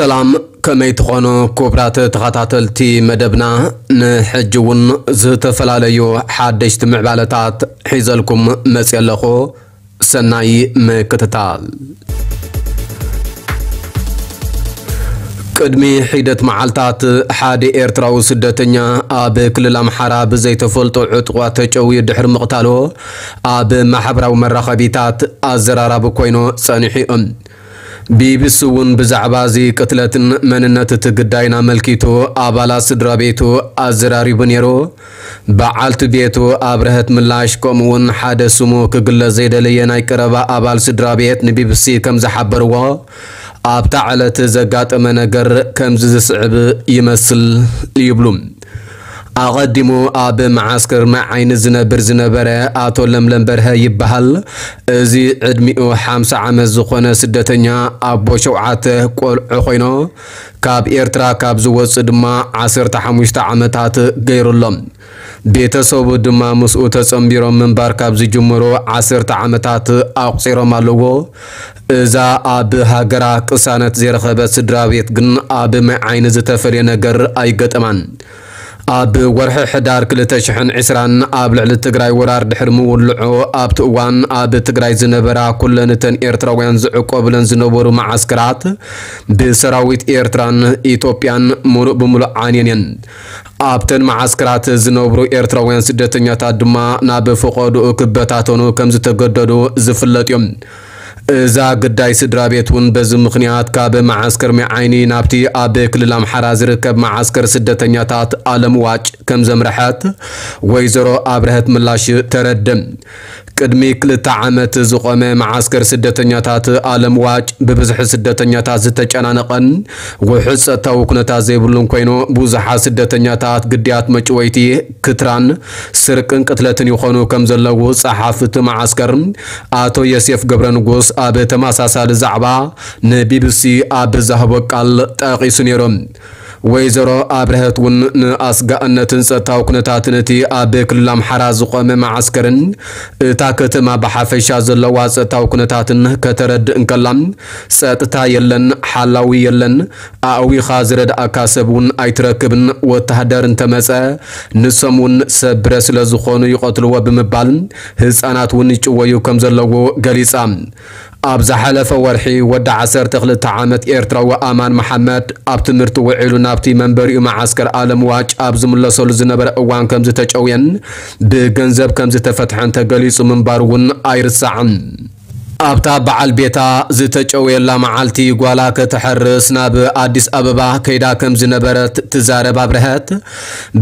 ሰላም፣ ከመይ ትኾኑ ክቡራት ተኸታተልቲ መደብና? ንሕጂ እውን ዝተፈላለዩ ሓደሽቲ ምዕባለታት ሒዘልኩም መፅየ ኣለኹ። ሰናይ ምክትታል። ቅድሚ ሒደት መዓልታት ሓደ ኤርትራዊ ስደተኛ ኣብ ክልል ኣምሓራ ብዘይተፈልጦ ዕጡቓት ተጨውዩ ድሕሪ ምቕታሉ ኣብ ማሕበራዊ መራኸቢታት ኣዘራራቢ ኮይኑ ጸኒሑ እዩ። ቢቢሲ እውን ብዛዕባ እዚ ቅትለትን መንነት እቲ ግዳይን ኣመልኪቱ ኣባላት ስድራ ቤቱ ኣዘራሪቡ ነይሩ። በዓልቲ ቤቱ ኣብርሀት ምላሽ፣ ከምኡውን ሓደ ስሙ ክግለጽ ዘይደለየ ናይ ቀረባ ኣባል ስድራ ቤት ንቢቢሲ ከም ዝሓበርዎ፣ ኣብታ ዕለት ዘጋጠመ ነገር ከምዚ ዝስዕብ ይመስል ይብሉ። ኣቐዲሙ ኣብ መዓስከር ማይ ዓይኒ ዝነብር ዝነበረ ኣቶ ለምለም በርሀ ይበሃል። እዚ ዕድሚኡ ሓምሳ ዓመት ዝኾነ ስደተኛ ኣቦ ሸውዓተ ቆልዑ ኮይኑ፣ ካብ ኤርትራ ካብ ዝወጽእ ድማ ዓሰርተ ሓሙሽተ ዓመታት ገይሩ ኣሎ። ቤተሰቡ ድማ ምስኡ ተጸንቢሮም ምንባር ካብ ዝጅምሩ ዓሰርተ ዓመታት ኣቑጺሮም ኣለዎ። እዛ ኣብ ሃገራ ቅሳነት ዘይረኸበት ስድራ ቤት ግን ኣብ ማይ ዓይኒ ዝተፈልየ ነገር ኣይገጠማን። ኣብ ወርሒ ሕዳር ክልተ ሽሕን ዕስራን ኣብ ልዕሊ ትግራይ ወራር ድሕሪ ምውልዑ፣ ኣብቲ እዋን ኣብ ትግራይ ዝነበራ ኩለን እተን ኤርትራውያን ዝዕቆብለን ዝነበሩ መዓስከራት ብሰራዊት ኤርትራን ኢትዮጵያን ሙሉእ ብሙሉእ ዓንየን እየን። ኣብተን መዓስከራት ዝነብሩ ኤርትራውያን ስደተኛታት ድማ ናብ ፈቐድኡ ክበታተኑ ከም ዝተገደዱ ዝፍለጥ እዮም። እዛ ግዳይ ስድራ ቤት እውን በዚ ምኽንያት ካብ መዓስከር ማይ ዓይኒ ናብቲ ኣብ ክልል ኣምሓራ ዝርከብ መዓስከር ስደተኛታት ኣለምዋጭ ከም ዘምርሐት ወይዘሮ ኣብርሀት ምላሽ ተረድእ። ቅድሚ ክልተ ዓመት ዝቖመ መዓስከር ስደተኛታት ኣለምዋጭ ብብዝሒ ስደተኛታት ዝተጨናነቐን ውሑስ ጸጥታዊ ኩነታት ዘይብሉን ኮይኑ፣ ብዙሓት ስደተኛታት ግዳያት መጭወይቲ፣ ክትራን፣ ስርቅን ቅትለትን ይኾኑ ከም ዘለዉ ጸሓፊ እቲ መዓስከር ኣቶ ዮሴፍ ገብረ ንጉስ ኣብ ተመሳሳሊ ዛዕባ ንቢቢሲ ኣብ ዝሃቦ ቃል ጠቒሱ ነይሩ። ወይዘሮ ኣብርሀት እውን ንኣስጋእነትን ጸጥታዊ ኩነታትን እቲ ኣብ ክልል ኣምሓራ ዝቖመ መዓስከርን እታ ከተማ ብሓፈሻ ዘለዋ ጸጥታዊ ኩነታትን ከተረድእ እንከላ፣ ጸጥታ የለን፣ ሓላዊ የለን፣ ኣእዊኻ ዝረድኣካ ሰብ እውን ኣይትረክብን፣ ወተሃደር እንተመጸ ንሶም እውን ሰብ ብረት ስለ ዝኾኑ ይቐትልዎ ብምባል ህጻናት እውን ይጭወዩ ከም ዘለዉ ገሊጻ። ኣብ ዝሓለፈ ወርሒ ወዲ ዓሰርተ ክልተ ዓመት ኤርትራዊ ኣማን መሓመድ ኣብ ትምህርቲ ውዒሉ ናብቲ መንበሪኡ መዓስከር ኣለምዋጭ ኣብ ዝምለሰሉ ዝነበረ እዋን ከም ዝተጨውየን ብገንዘብ ከም ዝተፈትሐን ተገሊጹ ምንባሩ እውን ኣይርሳዕን። ኣብታ በዓል ቤታ ዝተጨውየላ መዓልቲ ጓላ ከተሐርስ ናብ ኣዲስ ኣበባ ከይዳ ከም ዝነበረት ትዛረብ ኣብርሀት፣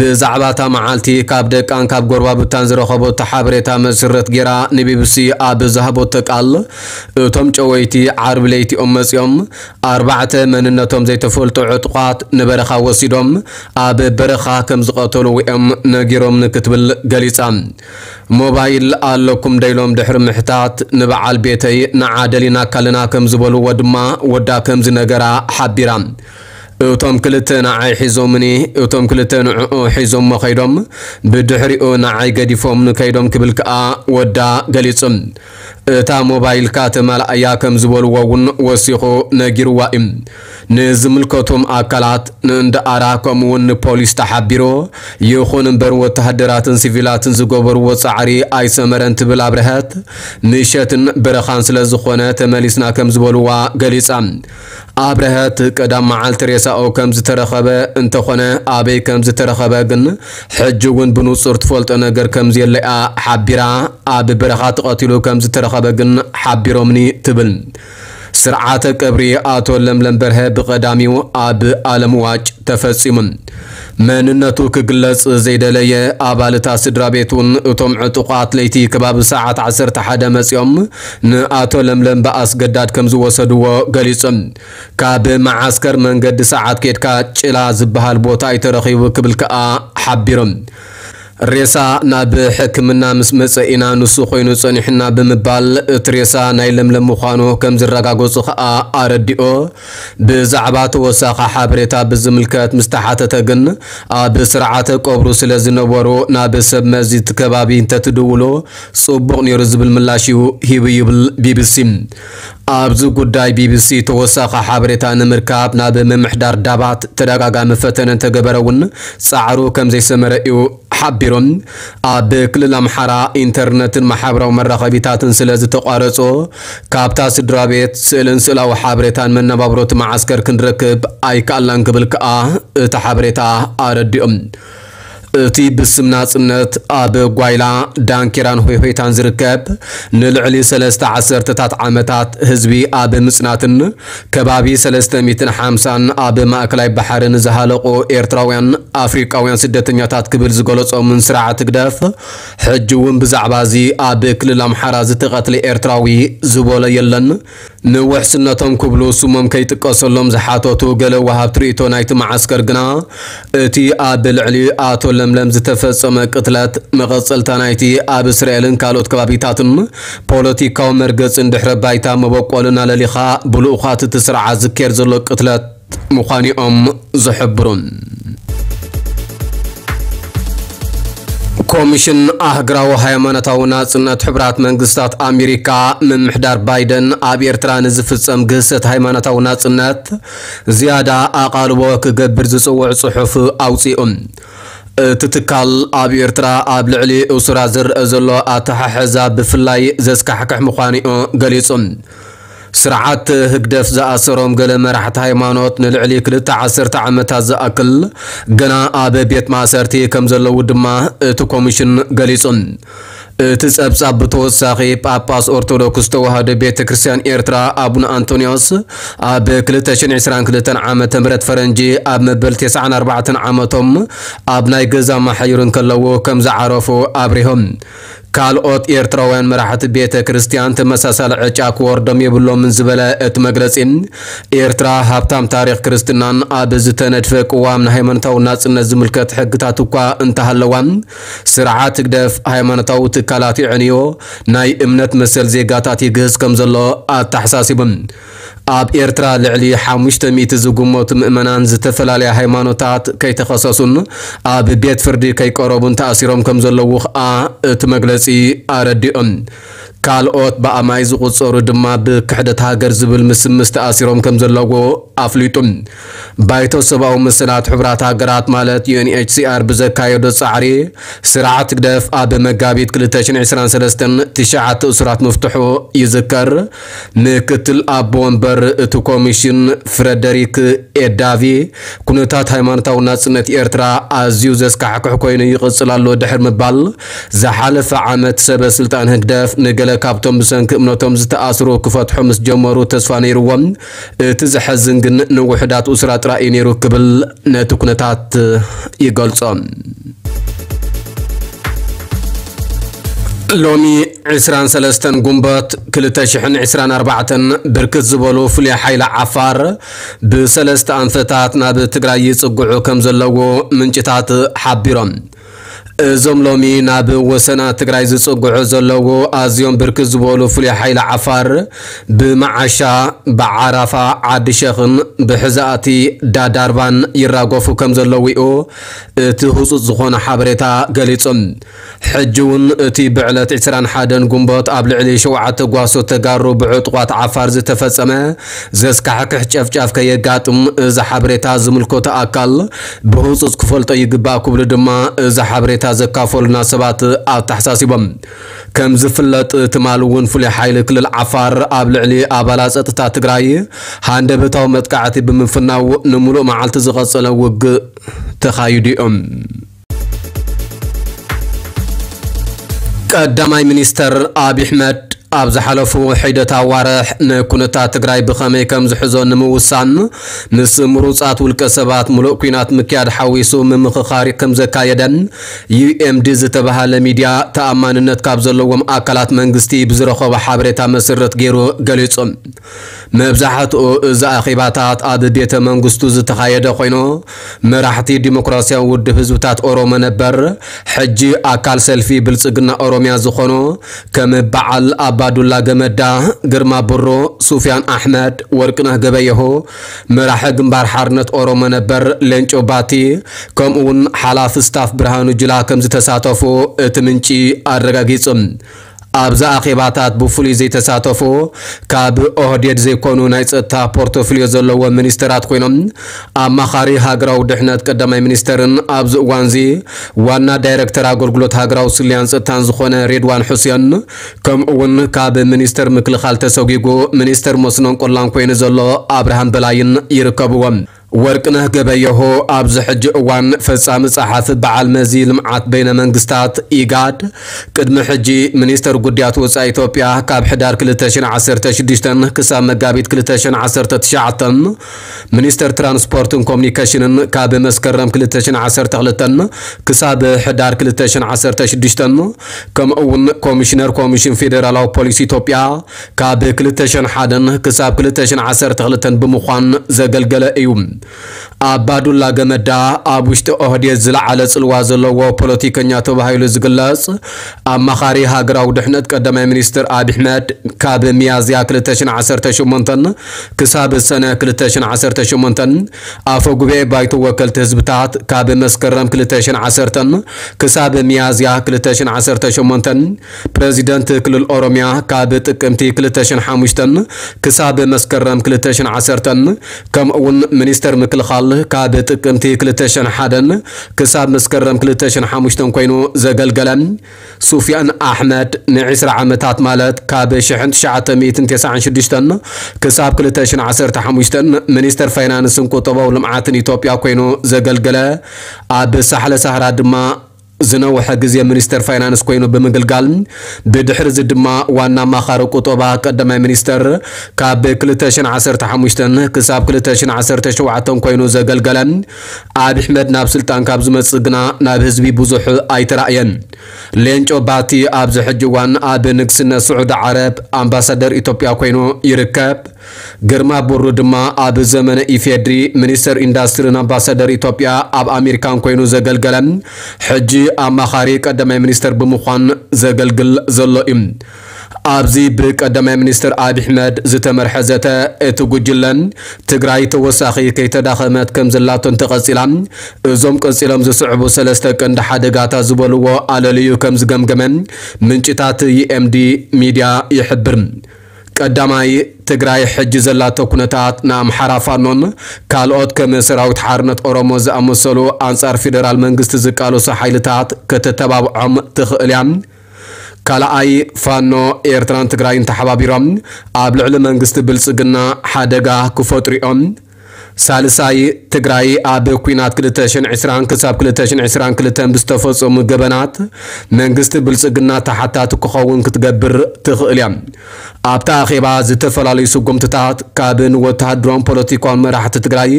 ብዛዕባ እታ መዓልቲ ካብ ደቃን ካብ ጎረባብታን ዝረኸቦቶ ሓበሬታ መሰረት ገይራ ንቢቢሲ ኣብ ዝሃቦቶ ቃል፣ እቶም ጨወይቲ ዓርቢ ለይቲ እዮም መጺኦም። ኣርባዕተ መንነቶም ዘይተፈልጡ ዕጡቓት ንበረኻ ወሲዶም ኣብ በረኻ ከም ዝቐተልዎ እዮም ነጊሮምኒ ክትብል ገሊጻ። ሞባይል ኣለኩም ዶ ኢሎም ድሕሪ ምሕታት፣ ንበዓል ቤተይ ንዓ ደሊናካ ኣለና ከም ዝበልዎ ድማ ወዳ ከም ዝነገራ ሓቢራ። እቶም ክልተ ንዓይ ሒዞምኒ፣ እቶም ክልተ ንዕኡ ሒዞሞ ከይዶም፣ ብድሕሪኡ ንዓይ ገዲፎምኒ ከይዶም ክብል ከኣ ወዳ ገሊጹ። እታ ሞባይልካ ተማልኣያ ከም ዝበልዎ እውን ወሲኹ ነጊርዋ እዩ። ንዝምልከቶም ኣካላት፣ ንእንዳ ኣራ ከምኡውን ንፖሊስ ተሓቢሩ። ይኹን እምበር ወተሃደራትን ሲቪላትን ዝገበርዎ ጻዕሪ ኣይሰመረን ትብል ኣብርሀት፣ ምሸትን በረኻን ስለ ዝኾነ ተመሊስና ከም ዝበልዋ ገሊጻ። ኣብርሀት ቀዳም መዓልቲ ሬሳኡ ከም ዝተረኸበ እንተኾነ ኣበይ ከም ዝተረኸበ ግን ሕጂ እውን ብንጹር ትፈልጦ ነገር ከም ዘየለያ ሓቢራ፣ ኣብ በረኻ ተቐቲሉ ከም ዝተረኸበ ግን ሓቢሮምኒ ትብል። ስርዓተ ቀብሪ ኣቶ ለምለም በርሀ ብቐዳሚው ኣብ ኣለምዋጭ ተፈጺሙ። መንነቱ ክግለጽ ዘይደለየ ኣባል እታ ስድራ ቤት እውን እቶም ዕጡቓት ለይቲ ከባቢ ሰዓት ዓሰርተ ሓደ መጺኦም ንኣቶ ለምለም ብኣስገዳድ ከም ዝወሰድዎ ገሊጹ። ካብ መዓስከር መንገዲ ሰዓት ኬድካ ጭላ ዝበሃል ቦታ እዩ ተረኺቡ ክብል ከኣ ሓቢሩ። ሬሳ ናብ ሕክምና ምስ መጸ ኢና ንሱ ኮይኑ ጸኒሑና ብምባል እቲ ሬሳ ናይ ለምለም ምዃኑ ከም ዝረጋገጹ ከኣ ኣረዲኡ። ብዛዕባ ተወሳኺ ሓበሬታ ብዝምልከት ምስ ተሓተተ ግን ኣብ ስርዓተ ቀብሩ ስለ ዝነበሩ ናብ ሰብ መዚ እቲ ከባቢ እንተትድውሉ ጽቡቕ ነይሩ ዝብል ምላሽ እዩ ሂቡ ይብል ቢቢሲ። ኣብዚ ጉዳይ ቢቢሲ ተወሳኺ ሓበሬታ ንምርካብ ናብ ምምሕዳር ዳባት ተደጋጋሚ ፈተነ እንተገበረ እውን ጻዕሩ ከም ዘይሰመረ እዩ ሓቢሩ። ኣብ ክልል ኣምሓራ ኢንተርነትን ማሕበራዊ መራኸቢታትን ስለ ዝተቋረጾ፣ ካብታ ስድራ ቤት ስእልን ስእላዊ ሓበሬታን መነባብሮ እቲ መዓስከር ክንረክብ ኣይከኣልናን ክብል ከኣ እቲ ሓበሬታ ኣረዲኡ። እቲ ብስም ናጽነት ኣብ ጓይላ፣ ዳንኬራን ሆይሆይታን ዝርከብ፣ ንልዕሊ ሰለስተ ዓሰርተታት ዓመታት ህዝቢ ኣብ ምጽናትን ከባቢ ሰለስተ ሚእትን ሓምሳን ኣብ ማእከላይ ባሕሪ ንዝሃለቑ ኤርትራውያን ኣፍሪቃውያን ስደተኛታት ክብል ዝገለጾምን ስርዓት ህግደፍ፣ ሕጂ እውን ብዛዕባ እዚ ኣብ ክልል ኣምሓራ ዝተቐትለ ኤርትራዊ ዝበሎ የለን። ንውሕስነቶም ክብሉ ስሞም ከይጥቀሰሎም ዝሓተቱ ገለ ወሃብቲ ርእይቶ ናይቲ መዓስከር ግና፣ እቲ ኣብ ልዕሊ ኣቶ ለምለም ዝተፈጸመ ቅትለት መቐጸልታ ናይቲ ኣብ እስራኤልን ካልኦት ከባቢታትን ፖለቲካዊ መርገጽን ድሕረ ባይታ መበቆልን ኣለሊኻ ብልኡኻት እቲ ስርዓት ዝካየድ ዘሎ ቅትለት ምዃኑ እዮም ዝሕብሩ። ኮሚሽን ኣህግራዊ ሃይማኖታዊ ናጽነት ሕቡራት መንግስታት ኣሜሪካ፣ ምምሕዳር ባይደን ኣብ ኤርትራ ንዝፍጸም ግህሰት ሃይማኖታዊ ናጽነት ዝያዳ ኣቓልቦ ክገብር ዝጽውዕ ጽሑፍ ኣውጺኡ። እቲ ትካል ኣብ ኤርትራ ኣብ ልዕሊ እሱራት ዝረኣ ዘሎ ኣተሓሕዛ ብፍላይ ዘስካሕክሕ ምዃኑ እዩ ገሊጹ። ስርዓት ህግደፍ ዝኣሰሮም ገለ መራሕቲ ሃይማኖት ንልዕሊ ክልተ ዓሰርተ ዓመታት ዝኣክል ገና ኣብ ቤት ማእሰርቲ ከም ዘለዉ ድማ እቲ ኮሚሽን ገሊጹ። እቲ ጸብጻብ ብተወሳኺ ጳጳስ ኦርቶዶክስ ተዋህዶ ቤተ ክርስቲያን ኤርትራ ኣቡነ ኣንቶንዮስ ኣብ ክልተ ሽሕን ዕስራን ክልተን ዓመተ ምህረት ፈረንጂ ኣብ መበል ተስዓን ኣርባዕተን ዓመቶም ኣብ ናይ ገዛ ማሕዩር እንከለዉ ከም ዝዓረፉ ኣብሪሆም። ካልኦት ኤርትራውያን መራሕቲ ቤተ ክርስቲያን ተመሳሳሊ ዕጫ ክወርዶም የብሎምን ዝበለ እቲ መግለጺ፣ ኤርትራ ሃብታም ታሪኽ ክርስትናን ኣብ ዝተነድፈ ቅዋም ንሃይማኖታዊ ናጽነት ዝምልከት ሕግታት እኳ እንተሃለዋ፣ ስርዓት ህግደፍ ሃይማኖታዊ ትካላት የዕንዮ፣ ናይ እምነት መሰል ዜጋታት ይግህስ ከም ዘሎ ኣተሓሳሲቡ። ኣብ ኤርትራ ልዕሊ ሓሙሽተ ሚእቲ ዝግመቱ ምእመናን ዝተፈላለያ ሃይማኖታት ከይተኸሰሱን ኣብ ቤት ፍርዲ ከይቀረቡን ተኣሲሮም ከም ዘለዉ ኸኣ እቲ መግለጺ ኣረዲኦም። ካልኦት ብኣማይ ዝቑጸሩ ድማ ብክሕደት ሃገር ዝብል ምስምስ ተኣሲሮም ከም ዘለዉ ኣፍሊጡ። ባይቶ ሰብኣዊ መሰላት ሕቡራት ሃገራት ማለት ዩ ኤን ኤች ሲ ኣር ብዘካየዶ ጻዕሪ፣ ስርዓት ህግደፍ ኣብ መጋቢት ክልተ ሽሕን ዕስራን ሰለስተን ትሽዓተ እሱራት ምፍትሑ ይዝከር። ምክትል ኣቦ ወንበር እቲ ኮሚሽን ፍረደሪክ ኤዳቪ፣ ኩነታት ሃይማኖታዊ ናጽነት ኤርትራ ኣዝዩ ዘስካሕክሕ ኮይኑ ይቕጽል ኣሎ ድሕሪ ምባል፣ ዝሓለፈ ዓመት ሰበ ስልጣን ህግደፍ ንገለ ካብቶም ብሰንኪ እምነቶም ዝተኣስሩ ክፈትሑ ምስ ጀመሩ ተስፋ ነይርዎም። እቲ ዘሐዝን ግን ንውሑዳት እሱራት ጥራይ እዩ ነይሩ ክብል ነቲ ኩነታት ይገልጾ። ሎሚ ዕስራን ሰለስተን ጉንበት ክልተ ሽሕን ዕስራን ኣርባዕተን ብርክት ዝበሉ ፍሉይ ሓይሊ ዓፋር ብሰለስተ ኣንፈታት ናብ ትግራይ ይጽግዑ ከም ዘለዉ ምንጭታት ሓቢሮም። እዞም ሎሚ ናብ ወሰና ትግራይ ዝጽግዑ ዘለዉ ኣዝዮም ብርክት ዝበሉ ፍሉይ ሓይሊ ዓፋር ብመዓሻ፣ ብዓራፋ፣ ዓዲ ሸኽን ብሕዛእቲ ዳዳርባን ይራገፉ ከም ዘለዉ እዩ እቲ ህጹጽ ዝኾነ ሓበሬታ ገሊጹ። ሕጂ እውን እቲ ብዕለት ዕስራን ሓደን ጉንበት ኣብ ልዕሊ ሸውዓተ ጓሶት ተጋሩ ብዕጡቓት ዓፋር ዝተፈጸመ ዘስካሕክሕ ጨፍጫፍ ከየጋጥም እዚ ሓበሬታ ዝምልከቶ ኣካል ብህጹጽ ክፈልጦ ይግባእ ክብሉ ድማ እዚ ሓበሬታ ዘካፈሉና ሰባት ኣተሓሳሲቦም። ከም ዝፍለጥ ትማሊ እውን ፍሉይ ሓይሊ ክልል ዓፋር ኣብ ልዕሊ ኣባላት ጸጥታ ትግራይ ሃንደበታዊ መጥቃዕቲ ብምፍናው ንምሉእ መዓልቲ ዝቐጸለ ውግእ ተኻይዱ እዮም። ቀዳማይ ሚኒስተር ኣብይ ኣሕመድ ኣብ ዝሓለፉ ሒደት ኣዋርሕ ንኩነታት ትግራይ ብኸመይ ከም ዝሕዞ ንምውሳን ምስ ምሩጻት ውልቀ ሰባት ምሉእ ኲናት ምክያድ ሓዊሱ ምምኽኻር ከም ዘካየደ ዩ ኤም ዲ ዝተባህለ ሚድያ ተኣማንነት ካብ ዘለዎም ኣካላት መንግስቲ ብዝረኸቦ ሓበሬታ መሰረት ገይሩ ገሊጹ። መብዛሕትኡ እዚ ኣኼባታት ኣብ ቤተ መንግስቱ ዝተኻየደ ኮይኑ፣ መራሕቲ ዲሞክራሲያዊ ውድብ ህዝብታት ኦሮሞ ነበር፣ ሕጂ ኣካል ሰልፊ ብልጽግና ኦሮሚያ ዝኾኑ ከም በዓል ኣባዱላ ገመዳ፣ ግርማ ብሩ፣ ሱፊያን ኣሕመድ፣ ወርቅነህ ገበየሁ፣ መራሒ ግንባር ሓርነት ኦሮሞ ነበር ሌንጮ ባቲ፣ ከምኡ እውን ሓላፊ ስታፍ ብርሃኑ ጁላ ከም ዝተሳተፉ እቲ ምንጪ ኣረጋጊጹ። ኣብዚ ኣኼባታት ብፍሉይ ዘይተሳተፉ ካብ ኦህዴድ ዘይኮኑ ናይ ጸጥታ ፖርቶፍልዮ ዘለዎም ሚኒስተራት ኮይኖም፣ ኣማኻሪ ሃገራዊ ድሕነት ቀዳማይ ሚኒስተርን ኣብዚ እዋንዚ ዋና ዳይረክተር ኣገልግሎት ሃገራዊ ስልያን ጸጥታን ዝኾነ ሬድዋን ሑሴን፣ ከምኡ እውን ካብ ሚኒስተር ምክልኻል ተሰጒጉ ሚኒስተር መስኖን ቆላን ኮይኑ ዘሎ ኣብርሃም በላይን ይርከብዎም። ወርቅነህ ገበየሁ ኣብዚ ሕጂ እዋን ፈጻሚ ጸሓፊ በዓል መዚ ልምዓት በይነ መንግስታት ኢጋድ፣ ቅድሚ ሕጂ ሚኒስተር ጉዳያት ወጻኢ ኢትዮጵያ፣ ካብ ሕዳር ክልተ ሽሕን ዓሰርተ ሽዱሽተን ክሳብ መጋቢት ክልተ ሽሕን ዓሰርተ ትሽዓተን፣ ሚኒስተር ትራንስፖርትን ኮሙኒኬሽንን ካብ መስከረም ክልተ ሽሕን ዓሰርተ ክልተን ክሳብ ሕዳር ክልተ ሽሕን ዓሰርተ ሽዱሽተን፣ ከምኡ እውን ኮሚሽነር ኮሚሽን ፌዴራላዊ ፖሊስ ኢትዮጵያ ካብ ክልተ ሽሕን ሓደን ክሳብ ክልተ ሽሕን ዓሰርተ ክልተን ብምዃን ዘገልገለ እዩ። ኣባዱላ ገመዳ ኣብ ውሽጢ ኦህዴድ ዝለዓለ ጽልዋ ዘለዎ ፖለቲከኛ ተባሂሉ ዝግለጽ፣ ኣማኻሪ ሃገራዊ ድሕነት ቀዳማይ ሚኒስትር ኣብይ ኣሕመድ፣ ካብ ሚያዝያ ክልተ ሽሕን ዓሰርተ ሸሞንተን ክሳብ ሰነ ክልተ ሽሕን ዓሰርተ ሸሞንተን፣ ኣፈ ጉባኤ ባይቶ ወከልቲ ህዝብታት ካብ መስከረም ክልተ ሽሕን ዓሰርተን ክሳብ ሚያዝያ ክልተ ሽሕን ዓሰርተ ሸሞንተን፣ ፕረዚደንት ክልል ኦሮምያ ካብ ጥቅምቲ ክልተ ሽሕን ሓሙሽተን ክሳብ መስከረም ክልተ ሽሕን ዓሰርተን፣ ከምኡ እውን ሚኒስተር ምክልኻል ካብ ጥቅምቲ ክልተ ሽሕን ሓደን ክሳብ መስከረም ክልተ ሽሕን ሓሙሽተን ኮይኑ ዘገልገለ ሱፊያን ኣሕመድ፣ ንዒስራ ዓመታት፣ ማለት ካብ ሽሕን ትሽዓተ ሚእትን ተስዓን ሽዱሽተን ክሳብ ክልተ ሽሕን ዓሰርተ ሓሙሽተን፣ ሚኒስተር ፋይናንስን ቁጠባዊ ልምዓትን ኢትዮጵያ ኮይኑ ዘገልገለ፣ ኣብ ሳሕለ ሳህራ ድማ ዝነውሐ ግዜ ሚኒስተር ፋይናንስ ኮይኑ ብምግልጋል፣ ብድሕሪ እዚ ድማ ዋና ኣማኻሪ ቁጠባ ቀዳማይ ሚኒስተር ካብ ክልተ ሽሕን ዓሰርተ ሓሙሽተን ክሳብ ክልተ ሽሕን ዓሰርተ ሸውዓተን ኮይኑ ዘገልገለ ኣብይ ኣሕመድ፣ ናብ ስልጣን ካብ ዝመጽእ ግና ናብ ህዝቢ ብዙሕ ኣይተራእየን። ሌንጮ ባቲ ኣብዚ ሕጂ እዋን ኣብ ንግስነት ስዑዲ ዓረብ ኣምባሳደር ኢትዮጵያ ኮይኑ ይርከብ። ግርማ ብሩ ድማ ኣብ ዘመነ ኢፌድሪ ሚኒስተር ኢንዳስትሪን ኣምባሳደር ኢትዮጵያ ኣብ ኣሜሪካን ኮይኑ ዘገልገለ፣ ሕጂ ኣማኻሪ ቀዳማይ ሚኒስተር ብምዃን ዘገልግል ዘሎ እዩ። ኣብዚ ብቀዳማይ ሚኒስተር ኣብይ ኣሕመድ ዝተመርሐ ዘተ፣ እቲ ጉጅለን ትግራይ ተወሳኺ ከይተዳኸመት ከም ዘላቶ እንተቐጺላ፣ እዞም ቀጺሎም ዝስዕቡ ሰለስተ ቀንዲ ሓደጋታት ዝበልዎ ኣለልዩ ከም ዝገምገመ ምንጭታት ዩኤምዲ ሚድያ ይሕብር። ቀዳማይ፣ ትግራይ ሕጂ ዘላቶ ኩነታት ንኣምሓራ ፋኖን ካልኦት ከም ሰራዊት ሓርነት ኦሮሞ ዝኣመሰሉ ኣንጻር ፌደራል መንግስቲ ዝቃለሱ ሓይልታት ከተተባብዖም ትኽእል እያ። ካልኣይ፣ ፋኖ ኤርትራን ትግራይን ተሓባቢሮም ኣብ ልዕሊ መንግስቲ ብልጽግና ሓደጋ ክፈጥሩ እዮም። ሳልሳይ፣ ትግራይ ኣብ ኲናት ክልተ ሽሕን ዕስራን ክሳብ ክልተ ሽሕን ዕስራን ክልተን ብዝተፈጸሙ ገበናት መንግስቲ ብልጽግና ተሓታቲ ክኸውን ክትገብር ትኽእል እያ። ኣብቲ ኣኼባ ዝተፈላለዩ ስጉምትታት፣ ካብ ንወተሃደራውን ፖለቲካውን መራሕቲ ትግራይ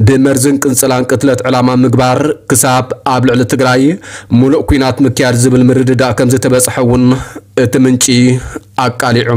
ብመርዝን ቅንጽላን ቅትለት ዕላማ ምግባር ክሳብ ኣብ ልዕሊ ትግራይ ሙሉእ ኲናት ምክያድ ዝብል ምርድዳእ ከም ዝተበጽሐ እውን እቲ ምንጪ ኣቃሊዑ።